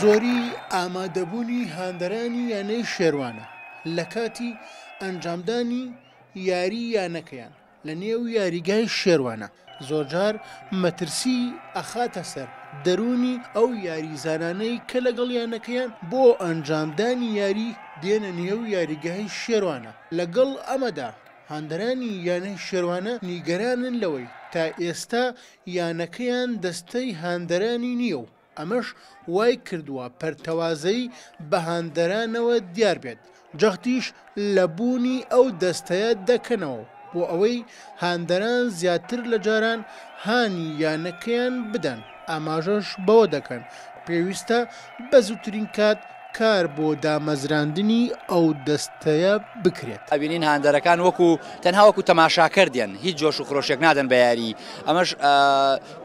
زۆری ئامادەبوونی هاندەرانی یانەی شێروانە لە کاتی ئەنجامدانی یاری یانەکەیان لە نێو یاریگای شێروانە زۆرجار مەترسی ئەخاتە سەر دەروونی ئەو یاریزانانەی کە لەگەڵ یانەکەیان بۆ ئەنجامدانی یاری دێنە نێو یاریگای شێروانە، لەگەڵ ئەمەدا هاندەرانی یانەی شێروانە نیگەرانن لەوەی تا ئێستا یانەکەیان دەستەی هاندەرانی نییە و ئەمەش وایکردووە پەرتەوازەیی بە هاندەرانەوە دیار بێت، جەختیش لە بوونی ئەو دەستەیە دەکەنەوە بۆ ئەوەی هاندەران زیاتر لە جاران هانی یانەکەیان بدەن، ئاماژەش بەوە دەکەن پێویستە بە زووترین کات کار بۆ دامەزراندنی ئەو دەستەیە بکرێت. ئەبینین هاندەرەکان وەکو تەنها وەکو تەماشاکەر دێن هیچ جۆش و خرۆشێک نادەن بە یاری ئەمەش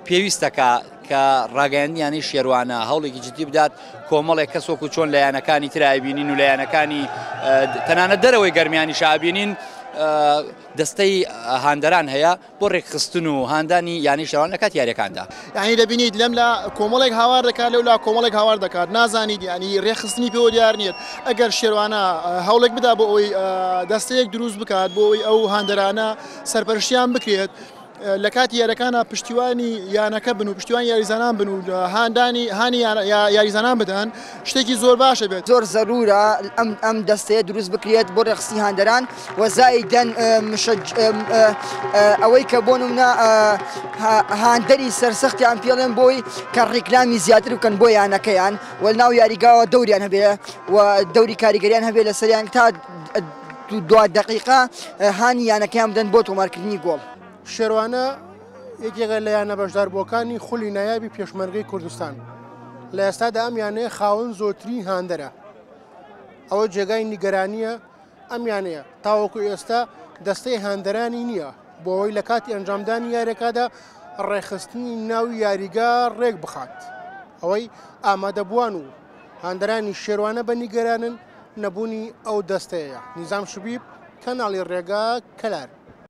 پێویستە کە کە ڕاگەیاندنی یانەی شێروانە هەوڵێکی جدی بدات کۆمەڵێک کەس وەکو چۆن لە یانەکانی تر ئەبینین و لە یانەکانی تەنانەت دەرەوەی گەرمیانیش ئەبینین دەستەی هاندەران هەیە بۆ ڕێکخستن و هاندانی یانەی شێروان لە کاتی یاریەکاندا. یانی دەبینیت لەم لا کۆمەڵێک هاوار دەکات لەو لا کۆمەڵێک هاوار دەکات نازانیت یانی ڕێکخستنی پێوە دیار نییە ئەگەر شێروانە هەوڵێک بدا بۆ ئەوەی دەستەیەک دروست بکات بۆ ئەوەی ئەو هاندەرانە سەرپەرشتیان بکرێت لە کاتی یاریەکانە پشتیوانی یانەکە بن و پشتیوانی یاریزانان بن و هاندانی هانی یاریزانان بدەن شتێکی زۆر باشە بێت. زۆر زەرورە ئەم ئەم دەستەیە دروست بکرێت بۆ ڕێکخستنی هاندەران و زائیدەن ئەوەی کە بۆ نمونە هاندەری سەرسەختیان پێڵێن بۆی کە ڕیکلامی زیاتر بکەن بۆ یانەکەیان و ناو یاریگاوە دەوریان هەبێ و دەوری کاریگەریان هەبێ لەسەریان تا دوا دەقیقە هانی یانەکەیان بدەن بۆ تۆمارکردنی گۆڵ. شێروانە یەکێکە لە یانە بەشداربووەکانی خولی نایابی پێشمەرگەی کوردستان. لە ئێستادا ئەم یانەیە خاوەن زۆرترین هاندەرە. ئەوە جێگای نیگەرانییە ئەم یانەیە تاوەکو ئێستا دەستەی هاندەرانی نییە بۆ ئەوەی لە کاتی ئەنجامدانی یاریەکەدا ڕێکخستنی ناو یاریگا ڕێک بخات. ئەوەی ئامادەبووان و هاندەرانی شێروانە بە نیگەرانن نەبوونی ئەو دەستەیە. نیزام شبیب، کەناڵی ڕێگا، کەلار.